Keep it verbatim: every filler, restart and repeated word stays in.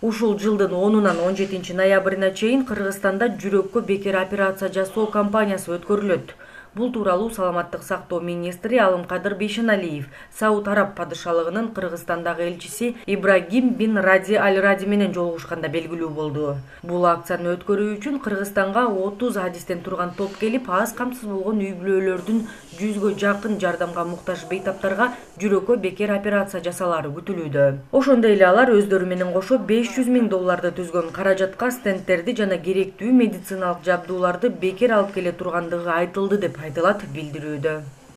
Ушул жылдын онунан он жетинчи ноябрына чейин Кыргызстанда жүрөккө бекер операция жасоо кампаниясы өткөрүлөт. Бул тууралуу саламаттык сактоо министри Алымкадыр Бейшеналиев Сауд Араб падышалыгынын Кыргызстандагы элчиси Ибрагим бин Ради Аль-Ради менен жолугушканда белгилүү болду. Бул акцияны өткөрүү үчүн Кыргызстанга отуз адистен турган топ келип, аз камсыз болгон үй-бүлөлөрдүн жүзгө жакын жардамга муктаж бейтаптарга жүрөккө бекер операция жасалары күтүлүүдө. Ошондой эле алар өздөрү менен кошо беш жүз миң долларды түзгөн каражатка стенттерди жана керектүү медициналык жабдууларды бекер алып келе тургандыгы айтылды деп айтылат билдирүүдө.